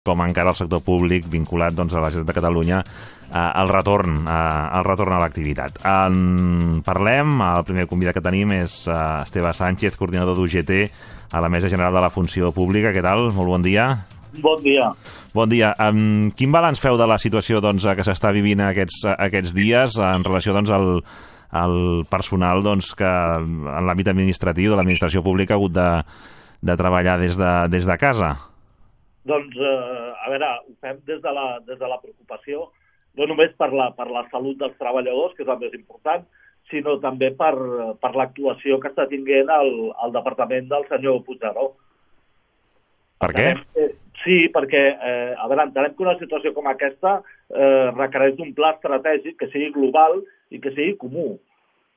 com encara el sector públic vinculat doncs, a la Generalitat de Catalunya al retorn a l'activitat. Parlem, el primer convidat que tenim és Esteve Sánchez, coordinador d'UGT a la Mesa General de la Funció Pública. Què tal? Molt bon dia. Bon dia. Bon dia. Quin balanç feu de la situació doncs, que s'està vivint aquests dies en relació doncs, al personal doncs, que en l'àmbit administratiu de l'administració pública ha hagut de treballar des de casa? Doncs, a veure, ho fem des de la preocupació, no només per la salut dels treballadors, que és el més important, sinó també per l'actuació que està tinguent el departament del senyor Puigneró. Per què? Sí, perquè, a veure, entenem que una situació com aquesta requereix d'un pla estratègic que sigui global i que sigui comú.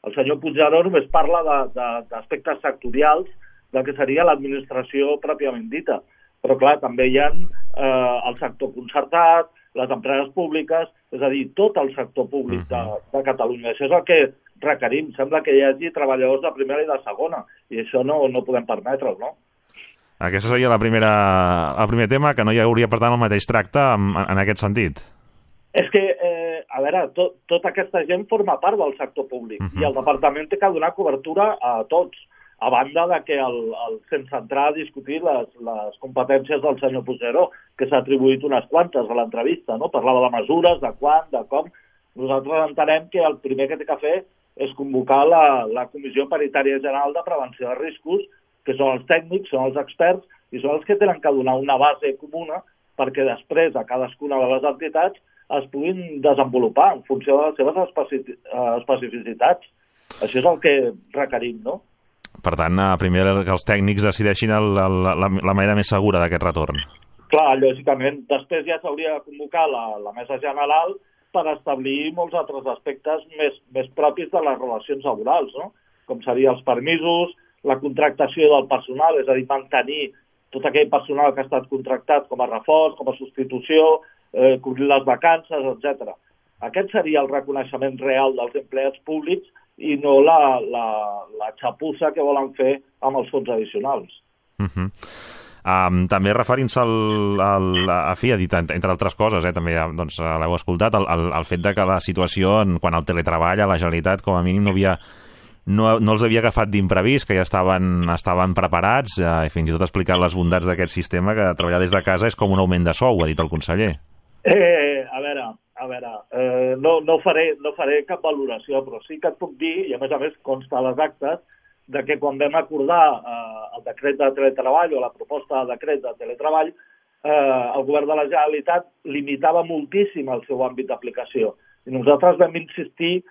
El senyor Puigneró només parla d'aspectes sectorials del que seria l'administració pròpiament dita. Però, clar, també hi ha el sector concertat, les empreses públiques, és a dir, tot el sector públic de Catalunya. Això és el que requerim. Sembla que hi hagi treballadors de primera i de segona, i això no podem permetre-ho, no? Aquest seria el primer tema, que no hi hauria, per tant, el mateix tracte en aquest sentit. És que, a veure, tota aquesta gent forma part del sector públic, i el departament té que donar cobertura a tots, a banda de que sense entrar a discutir les competències del senyor Puigneró, que s'ha atribuït unes quantes a l'entrevista, no? Parlava de mesures, de quan, de com. Nosaltres entenem que el primer que té que fer és convocar la Comissió Paritària General de Prevenció de Riscos, que són els tècnics, són els experts, i són els que tenen que donar una base comuna perquè després a cadascuna de les entitats es puguin desenvolupar en funció de les seves especificitats. Això és el que requerim, no? Per tant, primer que els tècnics decideixin la manera més segura d'aquest retorn. Clar, lògicament. Després ja s'hauria de convocar la Mesa General per establir molts altres aspectes més propis de les relacions laborals, no? Com serien els permisos, la contractació del personal, és a dir, mantenir tot aquell personal que ha estat contractat com a reforç, com a substitució, cobrir les vacances, etc. Aquest seria el reconeixement real dels empleats públics i no la xapussa que volen fer amb els fons addicionals. També referint-se ha dit, entre altres coses, també doncs, l'heu escoltat, el fet de que la situació, quan el teletreball a la Generalitat, com a mínim no els havia agafat d'imprevist, que ja estaven preparats, i fins i tot explicat les bondats d'aquest sistema, que treballar des de casa és com un augment de sou, ha dit el conseller. A veure, no faré cap valoració, però sí que et puc dir, i a més consta a les actes, de que quan vam acordar el decret de teletreball o la proposta de decret de teletreball, el govern de la Generalitat limitava moltíssim el seu àmbit d'aplicació. I nosaltres vam insistir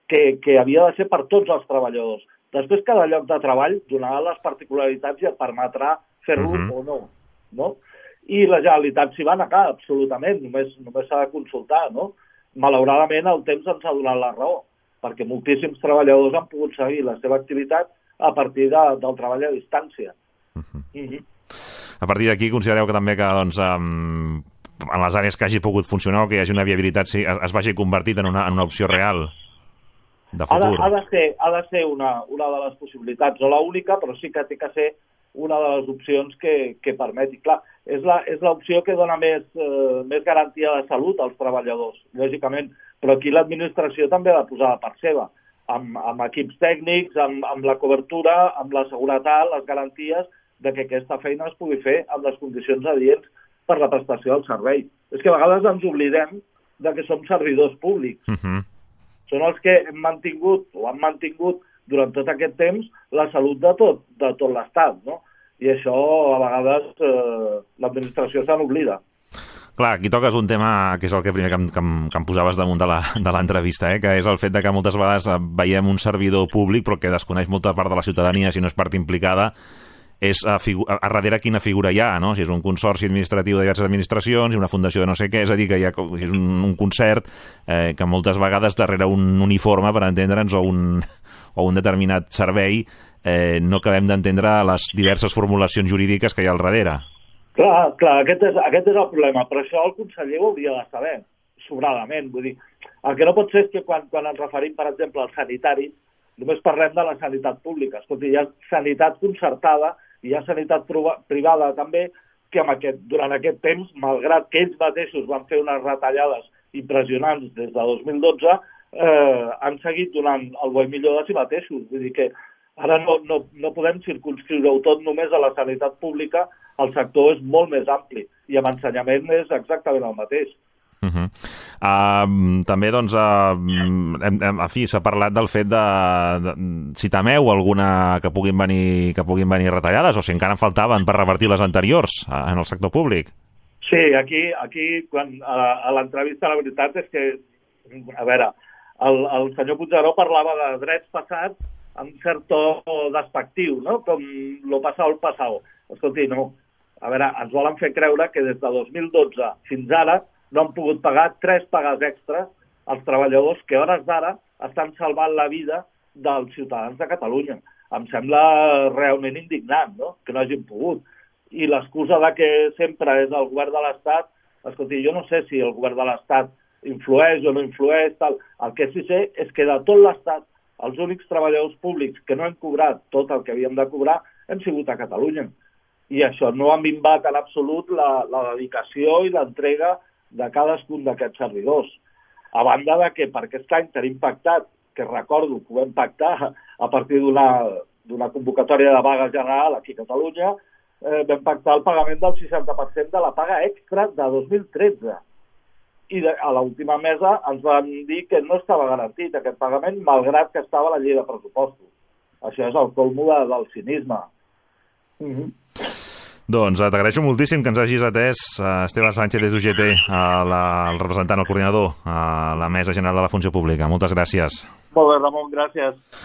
que havia de ser per tots els treballadors. Després, cada lloc de treball donarà les particularitats i et permetrà fer-lo o no? I la Generalitat s'hi va negar, absolutament, només s'ha de consultar, no? Malauradament, el temps ens ha donat la raó, perquè moltíssims treballadors han pogut seguir la seva activitat a partir del treball a distància. A partir d'aquí, considereu que també que doncs, en les àrees que hagi pogut funcionar o que hi hagi una viabilitat es vagi convertit en una opció real de futur? Ha de ser una de les possibilitats, no l'única, però sí que té que ser una de les opcions que permeti. Clar, és l'opció que dona més garantia de salut als treballadors, lògicament, però aquí l'administració també ha de posar de part seva, amb equips tècnics, amb la cobertura, amb la seguretat, les garanties de que aquesta feina es pugui fer amb les condicions adients per la prestació del servei. És que a vegades ens oblidem de que som servidors públics. Són els que han mantingut durant tot aquest temps la salut de tot l'Estat, no? I això, a vegades, l'administració se n'oblida. Clar, aquí toques un tema que és el primer que em posaves damunt de l'entrevista, que és el fet de que moltes vegades veiem un servidor públic però que desconeix molta part de la ciutadania, si no és part implicada, és a darrere quina figura hi ha, no? Si és un consorci administratiu de diverses administracions, una fundació de no sé què, és a dir, que hi ha, si és un concert que moltes vegades darrere un uniforme, per entendre'ns, o un determinat servei, no acabem d'entendre les diverses formulacions jurídiques que hi ha al darrere. Clar, aquest és el problema, però això el conseller ho hauria de saber, sobradament. Vull dir, el que no pot ser és que quan ens referim, per exemple, als sanitaris, només parlem de la sanitat pública. Escolti, hi ha sanitat concertada i hi ha sanitat privada també, que durant aquest temps, malgrat que ells mateixos van fer unes retallades impressionants des de 2012, han seguit donant el bo i millor de si mateixos. Vull dir que ara no podem circunscriure-ho tot només a la sanitat pública, el sector és molt més ampli i amb ensenyament és exactament el mateix. També, doncs, en fi, s'ha parlat del fet de si temeu alguna que puguin venir retallades o si encara en faltaven per revertir les anteriors en el sector públic. Sí, aquí quan, a l'entrevista la veritat és que, a veure, el senyor Puigneró parlava de drets passats amb cert to despectiu, no? Com lo pasado el pasado. Escolti, no. A veure, ens volen fer creure que des de 2012 fins ara no han pogut pagar 3 pagues extres als treballadors que a hores d'ara estan salvant la vida dels ciutadans de Catalunya. Em sembla realment indignant, no?, que no hagin pogut. I l'excusa de que sempre és el govern de l'Estat, escolti, jo no sé si el govern de l'Estat influeix o no influeix, tal. El que sí sé és que de tot l'Estat, els únics treballadors públics que no hem cobrat tot el que havíem de cobrar hem sigut a Catalunya. I això no ha minvat en absolut la dedicació i l'entrega de cadascun d'aquests servidors. A banda de que per aquest any tenim pactat, que recordo que ho vam pactar a partir d'una convocatòria de vaga general aquí a Catalunya, vam pactar el pagament del 60% de la paga extra de 2013. I a l'última mesa ens van dir que no estava garantit aquest pagament, malgrat que estava a la llei de pressupostos. Això és el colmo del cinisme. Doncs t'agraeixo moltíssim que ens hagis atès, Esteve Sánchez des d'UGT, el representant, el coordinador a la Mesa General de la Funció Pública. Moltes gràcies. Molt bé, Ramon, gràcies.